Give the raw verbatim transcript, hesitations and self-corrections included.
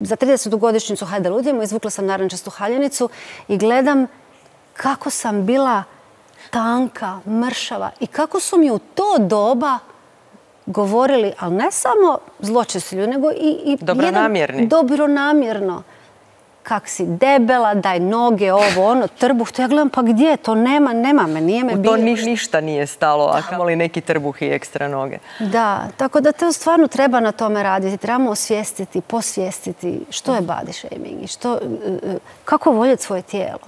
Za tridesetogodišnjicu Hajde ludimo izvukla sam narančastu haljenicu i gledam kako sam bila tanka, mršava i kako su mi u to doba govorili, ali ne samo zločesti ljudi, nego i, i dobronamjerni. Jedan, dobronamjerno. Kak si debela, daj noge, ovo, ono, trbuh. To ja gledam, pa gdje? To nema, nema me, nije me bilo. U to ni, ništa nije stalo, a kamoli neki trbuh i ekstra noge. Da, tako da to stvarno treba na tome raditi. Trebamo osvijestiti, posvijestiti što je body shaming i što, kako voljeti svoje tijelo.